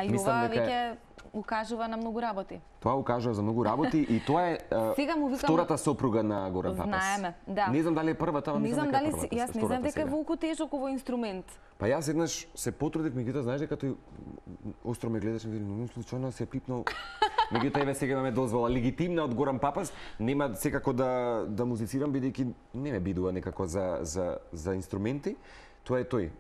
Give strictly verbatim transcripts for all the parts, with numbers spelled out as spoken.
А и ова веќе укажува на многу работи. Тоа укажува за многу работи и тоа е викам, втората сопруга на Горан Папас. Знаеме, да. Не знам дали е првата, ама не знам дали првата, јас не знам дека е волку тежок овој инструмент. Па јас еднаш се потрудив, меѓутоа знаеш дека тој остро ме гледаше и вели, но случајно се пипнал. Меѓутоа еве сега имаме дозвола легитимна од Горан Папас, нема секако да да музицирам бидејќи не ме бидува некако за за за инструменти. Тоа е тој.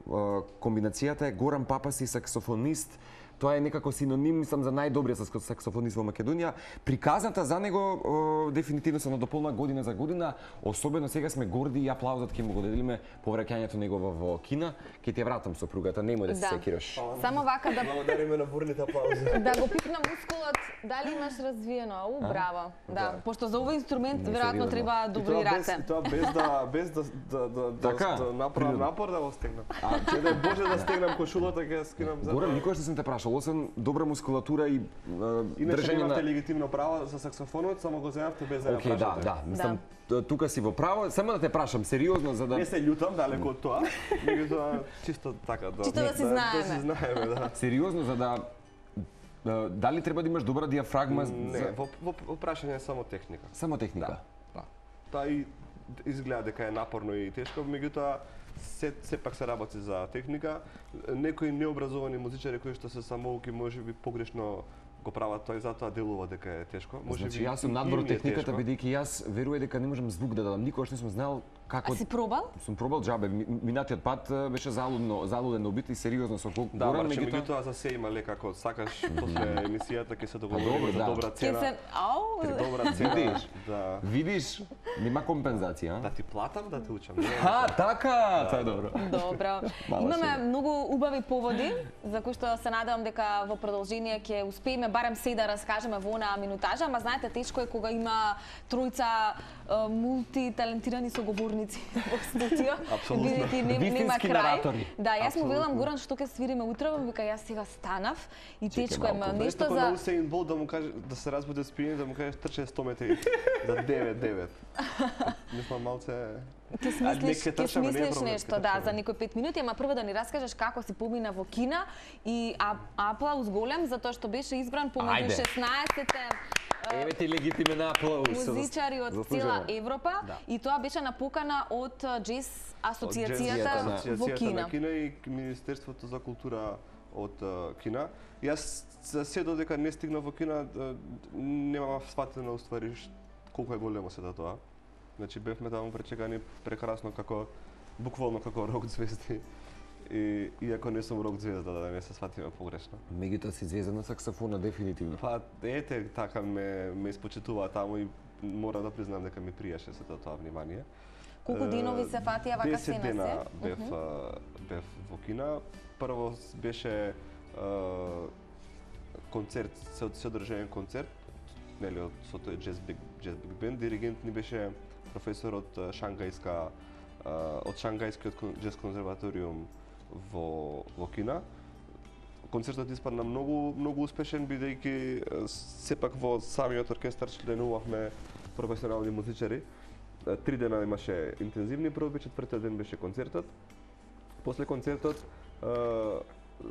Комбинацијата е Горан Папас и саксофонист. Тоа е некако синоним, мислам, за најдобриот саксофонист во Македонија. Приказната за него о, дефинитивно се надополна година за година. Особено сега сме горди и аплаузот ќе му го деделиме по враќањето негово во Кина. Ќе ти ја вратам сопругата, немој да се да. секираш. Само вака да благодариме на бурните аплаузи. Да го пипна мускулот, дали имаш развиено? У, браво. Да, да. Пошто за овој инструмент веројатно треба добри раце. И тоа без да без да да да така, да направам напор да го стегнам. А ќе да Боже да стегнам кошулата, ќе ја скинам за. Горан, никогаш не сум те прашал, освен добра мускулатура и иначе немавте легитимно право за саксофонот, само го земавте без да ја прашате. Океј, да, да, мислам, тука си во право, само да те прашам сериозно за да не се љутам далеку од тоа, меѓутоа чисто така да чисто да си знаеме. Да си знаеме, да. Сериозно за да дали треба да имаш добра диафрагма? Не, во во прашање е само техника. Само техника. Да. Тоа и изгледа дека е напорно и тешко, меѓутоа се сепак се работи за техника. Некои необразовани музичари кои што се самоуки можеби погрешно го прават тоа и затоа делува дека е тешко. Може значи, јас сум надвор техниката бидејќи јас верувам дека не можам звук да дадам. Никогаш не сум знал како. А си пробал? Сум пробал џабе. Минатиот пат беше залудно, залуден убит и сериозно со колку да, горам, меѓутоа за се има лека ако сакаш после емисијата ќе се договориме за добра цена. Ќе се ау, добра цена. Видиш? Да. Видиш? Нема компензација, да ти платам да те учам. Ха, така, тоа е добро. Добро. Имаме многу убави поводи за кои што се надевам дека во продолжение ќе успееме барем се да раскажеме во онаа минутажа, ама знаете тешко е кога има тројца мултиталентирани соговорници во студио, бидејќи нема крај. Да, јас му велам Горан што ќе свириме утре, вика јас сега станав и тешко е нешто за на Усеин Бол да му каже да се разбуди спиен, да му каже трче сто метри за девет девет. Мислам малце Ќе смислиш, ќе смислиш нешто, да, за некои пет минути, ама прво да ни раскажеш како си помина во Кина и аплауз голем затоа што беше избран помеѓу шеснаесетте Еве ти легитимен аплауз. Музичари од цела Европа да. И тоа беше на покана од Джез асоциацијата во Кина. Кина и Министерството за култура од Кина. Јас се додека не стигнав во Кина немам сватено уствари колку е големо се да тоа. Значи бевме таму пречекани прекрасно како буквално како рок звезди. И иако не сум рок звезда, да не се сватиме погрешно. Меѓутоа си звезда на саксофона дефинитивно. Па ете така ме ме испочитува таму и мора да признам дека ми приеше сето тоа внимание. Колку денови се фатија вака се на се? десет дена бев uh -huh. бев во Кина. Прво беше концерт, се одржаен концерт, нели од со тој Jazz Big Jazz Big Band. Диригент ни беше професор од Шангајска од Шангајскиот џез конзерваториум во во Кина. Концертот испадна многу многу успешен бидејќи сепак во самиот оркестар членувавме професионални музичари. Три дена имаше интензивни проби, четвртиот ден беше концертот. После концертот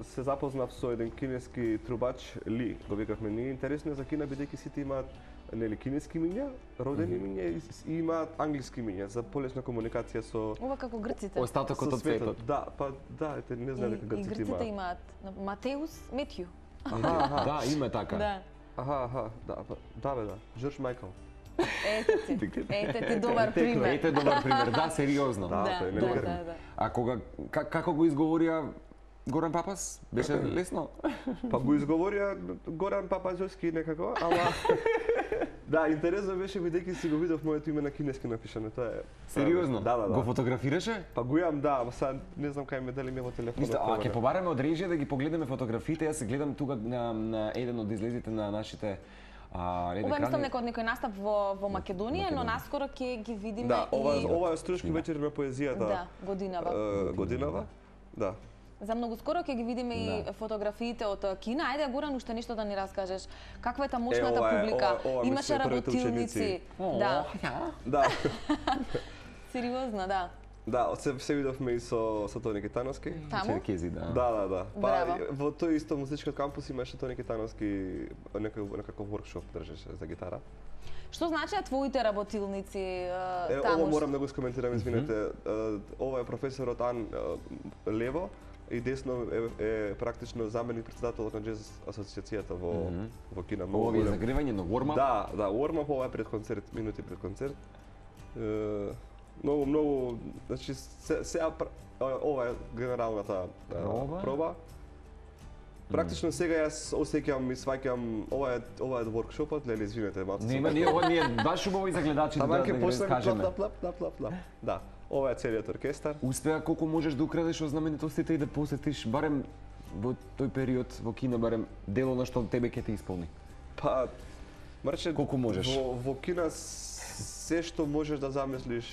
се запознав со еден кинески трубач Ли. Го викавме ние интересно за Кина бидејќи сите имаат нели кинески имиња, родени имиња и имаат англиски имиња за полесна комуникација со ова како грците. Остатокот од светот. Да, па да, ете не знам дека грците имаат. И грците имаат Матеус, Метју. Да, има така. Да. Аха, аха, да, да бе да, Џорџ Мајкл. Ете ти, ете ти добар пример. Ете добар пример, да, сериозно. Да, тој не да, да, да. А кога како го изговорија Горан Папас? Беше лесно? Па го изговорија Горан Папазовски некако, ама да, интересно беше бидејќи си го видов моето име на кинески напишано, тоа е. Сериозно? Да, да, да. Го фотографираше? Па го имам, да, ама сега не знам кај ме дали ме во телефонот. А ќе побараме од режија да ги погледнеме фотографиите, јас се гледам тука на, на еден од излезите на нашите А, ова мислам дека од некој настап во во Македонија, но наскоро ќе ги видиме да, ова, и ова е Струшки вечер на поезијата. Да, годинава. Uh, годинава. Да. За многу скоро ќе ги видиме да. И фотографиите од Кина. Ајде Горан уште нешто да ни раскажеш. Каква е таа мощната е, ова е, публика? ова, ова имаше работилници. О, да. Да. Сериозно, да. Да, се се видовме и со со Тони Китановски. Таму? Черкези, да. Да, да, да. Па Браво. во тој исто музички кампус имаше Тони Китановски некој некаков воркшоп држеше за гитара. Што значат твоите работилници е, Е, таму? ова морам да го скоментирам, извинете. Е, ова е професорот Ан е, лево и десно е, е практично заменик председател на джез асоциацијата во во Кина. Ова ви е загревање на warm-up? Да, да, warm-up ова е пред концерт, минути пред концерт. Е, многу многу, значи се сега ова е генералната е, Проба. проба. Практично сега јас осеќам и сваќам ова е ова е воркшопот, леле извинете, малку. Нема, ние ова ние баш убаво и за гледачите Таман да, ќе да ги почнеме кажеме. плап, плап, плап, плап, плап. Да, ова е целиот оркестар. Успеа колку можеш да украдеш од знаменитостите и да посетиш барем во тој период во Кина барем дело на што тебе ќе те исполни. Па Марче, Колку можеш? Во во Кина се што можеш да замислиш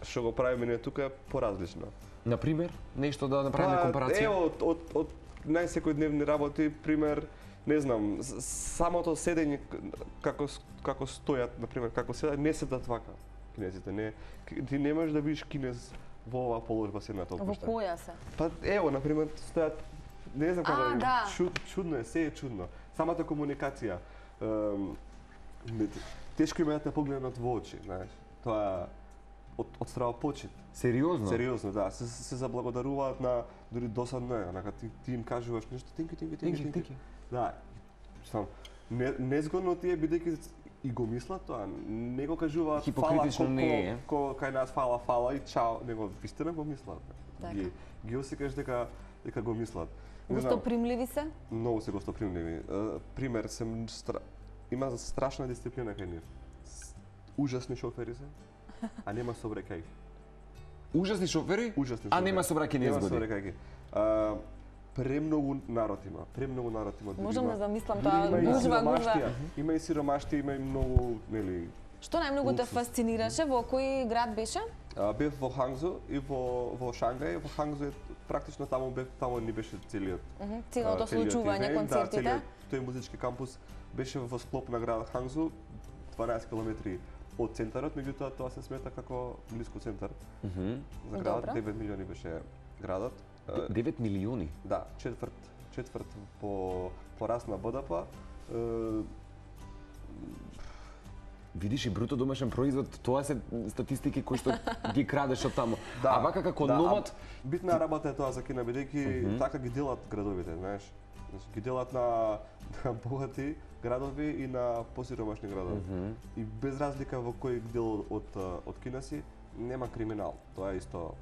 што го правиме ние тука е поразлично. На пример, нешто да направиме компарација. Ево од од од најсекојдневни работи, пример, не знам, с- самото седење како с- како стојат, на пример, како седат, не седат вака кинезите, не. Ти не можеш да видиш кинез во оваа положба седнат Во опушта. која се? Па ево, на пример, стојат, не знам како А, да да. чуд, чудно е, се е чудно. Самата комуникација, ем, не- тешко им е да те погледнат во очи, знаеш. Тоа од од страва почит. Сериозно? Сериозно, да, се се заблагодаруваат на дури досадно е, онака ти, ти им кажуваш нешто, тинки, тинки, тинки, Тинки, тинки. тинки. Да, сам не незгодно ти е бидејќи и го мислат тоа, не го кажуваат фала Хипокритично колку не е. ко кај нас фала фала и чао, него вистина го мислат. Така. Ги ги осекаш дека дека го мислат. Не знам, Гостопримливи се? многу се гостопримливи. Е, пример, сем стра... има страшна дисциплина кај нив. С- Ужасни шофери се, а нема собрекај. Ужасни шофери? Ужасни А шофери. нема собраки Нема незгоди. собрекајки. А, премногу народ има, премногу народ има. Дури Можам има- да замислам дури тоа, има и гужва, гужва. сиромаштија. Има и сиромаштија, има и многу, нели, Што најмногу те Луксус. фасцинираше? Во кој град беше? а, бев во Хангзо и во во Шангај. Во Хангзо е практично таму бев, таму ни беше целиот Мгм, а, Целото целиот случување, ивент, да, концертите? целиот тој музички кампус беше во склоп на град Хангзо, дванаесет километри од центарот, меѓутоа тоа се смета како блиску центар Мгм. за градот. Добро. девет милиони беше градот. А, девет милиони. Да, четврт, четврт по пораст на Б Д П. Е, Видиш и бруто домашен производ, тоа се статистики кои што ги крадеш од таму. А вака како да, номад, а битна работа е тоа за Кина, бидејќи така ги делат градовите, знаеш. Значи ги делат на, на богати градови и на посиромашни градови. И без разлика во кој дел од од Кина си, нема криминал. Тоа е исто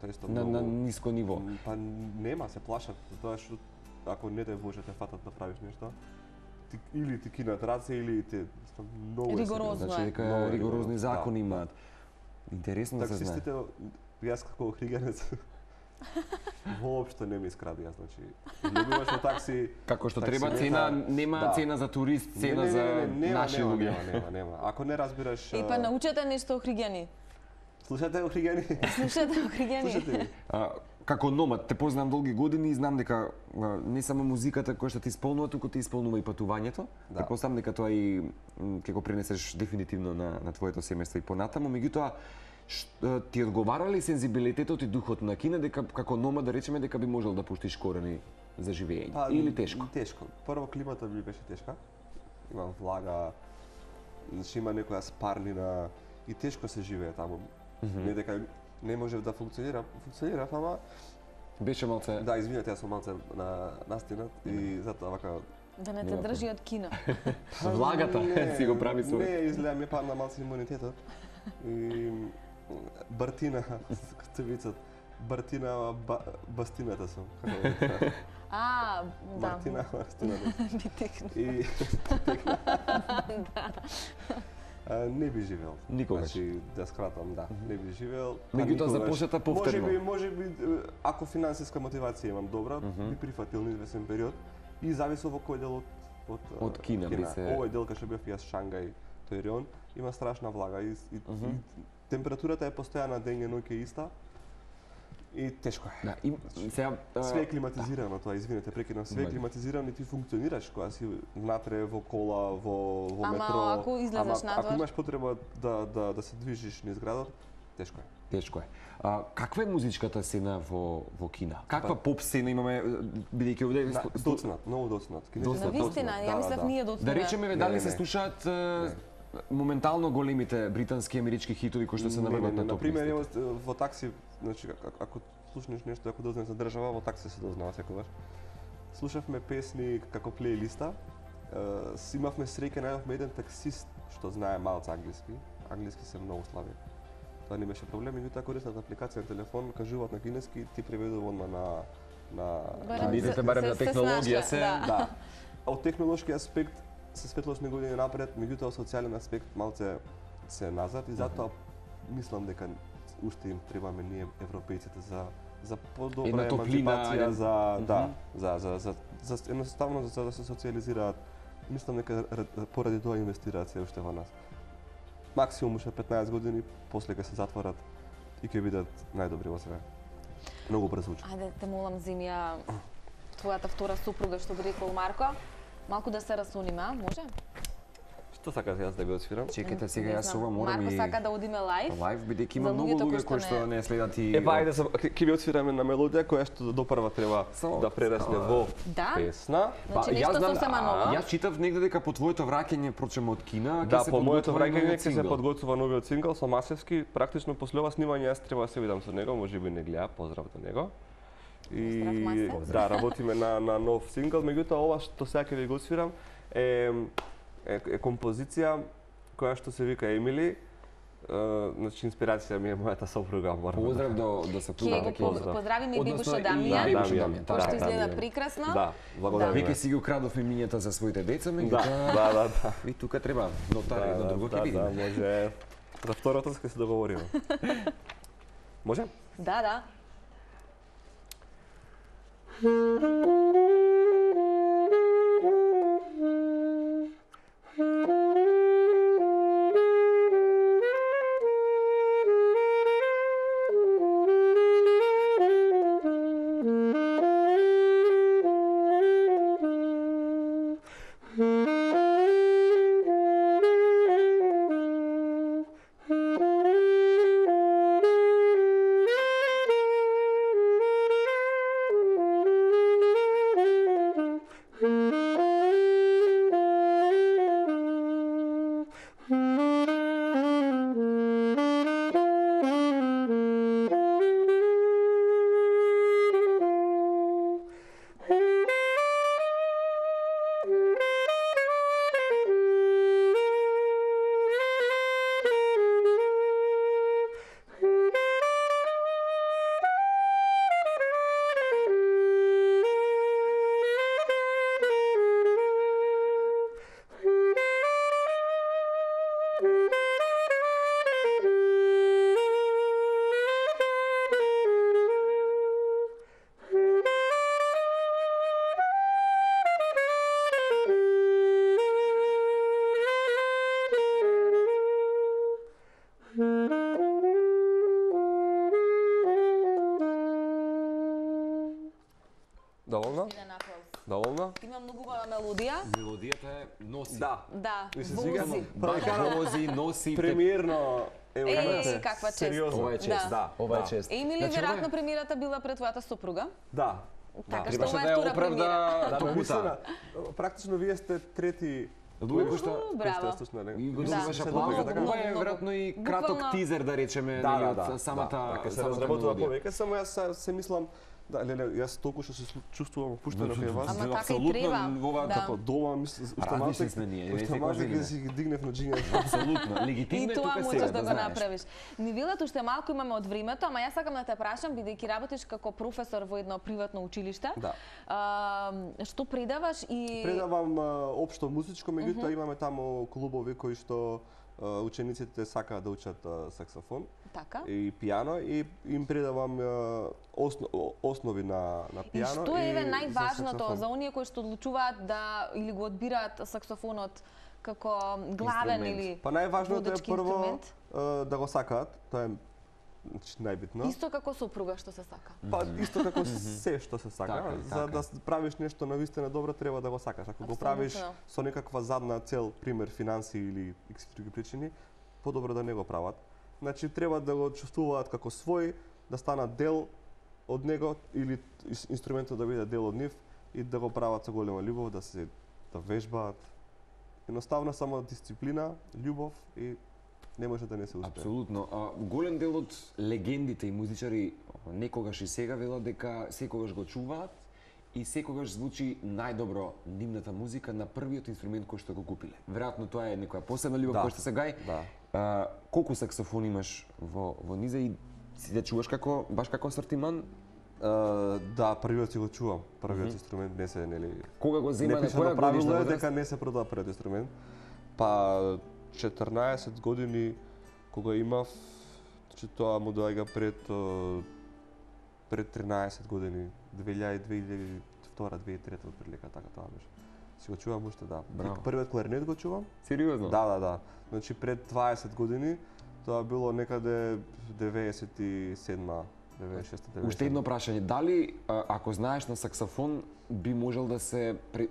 тоа е исто на, на многу. ниско ниво. Па нема, се плашат. Тоа што ако не те Боже те фатат да правиш нешто, ти, или ти кинат раце или те многу е Ригорозно сериозно. Значи е. дека Много ригорозни ригорозно, закони да, имаат. Интересно да се знае. Таксистите, јас како хриганец, воопшто не ми искради, јас, значи, излегуваш во такси... Како што такси треба нека- цена, нема да. цена за турист, Не, цена не, за не, не, нема, наши нема, луѓе. Нема, нема, нема. Ако не разбираш... И па а, научете нешто о Хригјани. Слушате о хригани? Слушате о Хригјани. Слушате ми? А, како номад, те познавам долги години и знам дека а, не само музиката која што ти исполнува, туку ти исполнува и патувањето. Да. Те поставам дека тоа и м, ќе го пренесеш дефинитивно на, на твоето семејство и понатаму, меѓутоа ш- ти одговара ли сензибилитетот и духот на Кина дека како номад да речеме дека би можел да пуштиш корени за живење Па, или тешко? Тешко. Прво климата ми беше тешка. Има влага, значи има некоја спарнина и тешко се живее таму. Не дека не можев да функционира, функционира, ама Беше малце... да, извинете, јас сум малце на настинат и затоа вака Да не те Нема држи од Кина. Влагата си го прави свој. Не, изгледа ми падна малце имунитетот. И Бартина, како се викаат, Бартина ба, бастината сум. Како го викаат? А, да. Мартина бастината. Би текна. И А, не би живеел. Никогаш. Значи, да скратам, да, не би живеел. Па Меѓутоа, за никогаш. посета повторно. Може би, може би, е, ако финансиска мотивација имам добра, би прифатил на извесен период и зависи во кој дел од од, Од Кина би се- Овој дел кај што бев јас Шангај, тој регион, има страшна влага и, и, и температурата е постојана дење и ноќе иста. И тешко е. Да, и сега а, Све е климатизирано тоа, извинете, прекинам. Све е Мај. климатизирано и ти функционираш кога си внатре во кола, во во Ама метро. ако излезеш Ама надвор? ако имаш потреба да да да се движиш низ градот, тешко е. Тешко е. А, каква е музичката сцена во во Кина? Каква поп сцена имаме бидејќи овде доцнат, многу доцнат. На вистина, ја мислев ние доцнат. Да речеме дали се слушаат моментално големите британски и амерички хитови кои што се наврнат на топ листа. На пример, во такси, значи ако слушнеш нешто, ако дознаеш за држава, во такси се дознава секогаш. Слушавме песни како плейлиста. Си имавме среќа, најавме еден таксист што знае малку англиски. Англиски се многу слаби. Тоа не беше проблем, меѓутоа користат апликација на телефон, кажуваат на кинески, ти преведува одма на на видите барем на технологија се. Да. Од технолошки аспект се светлосни години напред, меѓутоа социјален аспект малце се назад и затоа мислам дека уште им требаме ние европејците за за подобра емансипација, за да, за за за за едноставно за да се социјализираат. Мислам дека поради тоа инвестираат се уште во нас. Максимум уште петнаесет години, после ќе се затворат и ќе бидат најдобри во све. Многу брзо учат. Ајде, те молам, Зимија, твојата втора супруга, што би рекол Марко, малку да се расуниме, може? Што сакаш јас да го отсвирам? Чекайте, сега јас ова морам и... Марко сака да одиме лайв. Лайв, бидејќи има многу луѓе кои што не следат и... Ева, ајде, ќе ви отсвираме на мелодија која што допрва треба да прерасне во песна. Значи нешто сосема ново. Јас читав негде дека по твоето враќање прочем од Кина, ќе се подготвува. Да, по моето враќање ќе се подготвува новиот сингл со Масевски. Практично после ова снимање јас треба да се видам со него, можеби не гледа, поздрав до него. И да, работиме на на нов сингл, меѓутоа ова што сега ќе ви го отсвирам е е, е композиција која што се вика Емили. Uh, значи инспирација ми е мојата сопруга Марна. Поздрав до до сопругата. Ќе го поздравиме Бибуша Дамија, кој што изгледа прекрасно. Да, благодарам. Веќе си ги украдов имињата за своите деца, меѓутоа. Да, да, да. И тука треба нотар едно друго ќе видиме. Да, може. За второто ќе се договориме. Може? Да, да. Доволна? Доволна? Има многу убава мелодија. Мелодијата е носи. Да. Да, вози. Вози, носи. Премиерно Е, каква чест. Ова е чест, да. Ова е чест. Емили, веројатно премиерата била пред твојата супруга? Да. Така што ова е втора премиера. Да, мислена. Практично вие сте трети луѓе кои што и го добиваш аплауз. Ова е веројатно и краток тизер да речеме од самата ќе се разработува повеќе, само јас се мислам. Да, леле, јас толку што се чувствувам опуштено кај вас. Ама така и треба. Ова како дома, мислам, различни сме ние. Уште ќе си ги дигнев на джиња. Апсолутно. Легитимно е тука сега. И тоа можеш да го направиш. Ни велат уште малку имаме од времето, ама јас сакам да те прашам, бидејќи работиш како професор во едно приватно училиште. Да. Што предаваш и Предавам општо музичко, меѓутоа имаме таму клубови кои што учениците сакаат да учат саксофон така и пијано и им предавам осно, основи на на пијано. И што е еве најважното за оние кои што одлучуваат да или го одбираат саксофонот како главен или па најважното е прво да го сакаат, тоа е најбитно. Исто како супруга што се сака. Па исто како се што се сака, за да правиш нешто навистина добро треба да го сакаш. Ако го правиш со некаква задна цел, пример финанси или икс други причини, подобро да не го прават. значи треба да го чувствуваат како свој, да станат дел од него или инструментот да биде дел од нив и да го прават со голема љубов, да се да вежбаат. Едноставно само дисциплина, љубов и не може да не се успее. Апсолутно. А, голем дел од легендите и музичари некогаш и сега велат дека секогаш го чуваат и секогаш звучи најдобро нивната музика на првиот инструмент кој што го купиле. Веројатно тоа е некоја посебна љубов Да. која што се гај. Да. А, колку саксофон имаш во во низа и си да чуваш како баш како асортиман? Uh, да, првиот си го чувам. Првиот mm -hmm. инструмент не се, нели... Кога го зема, не на пише која на правило годишна е возраст? дека не се продава првиот инструмент. Па четрнаесет години кога имав, че тоа му доаѓа пред uh, пред тринаесет години, две илјади две илјади и втора две илјади и трета отприлика, така тоа беше. Си го чувам уште, да. Браво. Првиот кларинет го чувам. Сериозно? Да, да, да. Значи пред дваесет години, тоа било некаде деветдесет и седма, деветдесет и шеста, деветдесет и седма. Уште едно прашање, дали а, ако знаеш на саксофон би можел да се при-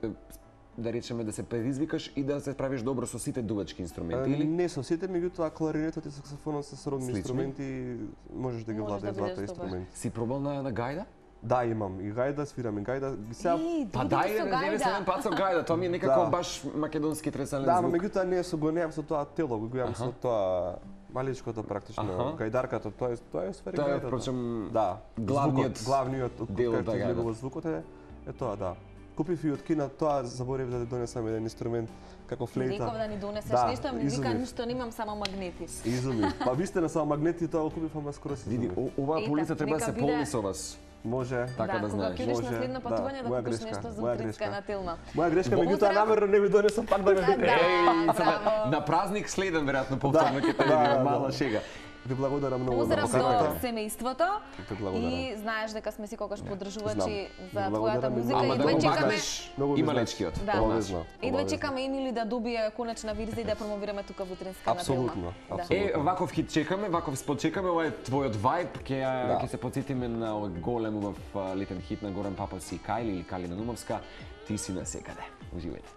да речеме да се предизвикаш и да се справиш добро со сите дувачки инструменти или Не со сите, меѓутоа кларинетот и саксофонот се сродни Слични? инструменти, можеш да ги Можеш да владееш бидеш двата добар. инструменти. си пробал на, на гајда? Да, имам и гајда, свирам и гајда. Сега И, Па другите дај со да не гајда. еден пат со гајда, тоа ми е некако Да. баш македонски традиционален да, но звук. меѓутоа не со го немам со тоа тело, го имам Аха. со тоа маличкото практично, Аха. гајдарката, тоа е тоа е сфери Тоа е гајдата. впрочем Да, главниот звукот, главниот дел од како таа гајда. излегува звукот е е тоа, да. Купив и од Кина, тоа заборев да донесам еден инструмент како флейта. Виков да ни донесеш Да, нешто, ми вика изумив. ништо немам, само магнети. Изумив. Па висте на само магнети, тоа го купив, ама скоро се Види, изумив. о- оваа Ета, полица треба да нека се биде- полни со вас. Може. Така да кога знаеш. ќе одиш на Може, следно да, патување да моја купиш грешка, нешто за моја утринска грешка. на Тилма. Моја грешка, Поздрав. меѓутоа намерно не ви донесам пак да ме видите. Да, Еј, само браво. на празник следен веројатно повторно ќе те Да, видиме, да. мала шега. Ви благодарам многу за Поздрав до поканата. семејството Те благодарам. и знаеш дека сме си колкаш подржувачи Знам. за Ви твојата благодарам и музика многу. и Ама да едва го чекаме бакнеш Многу ми има значи. лечкиот. Да. Обавезно. едва обавезно. чекаме Емили да добие конечна верзија и да ја промовираме тука во утринска на Тилма. Апсолутно, Да. апсолутно. Е, ваков хит чекаме, ваков спот чекаме, ова е твојот вајб, ќе ја- Да. ќе се потсетиме на овој голем убав а, летен хит на Горан Папас и Кајли или Калина Нумовска, ти си насекаде. Уживајте.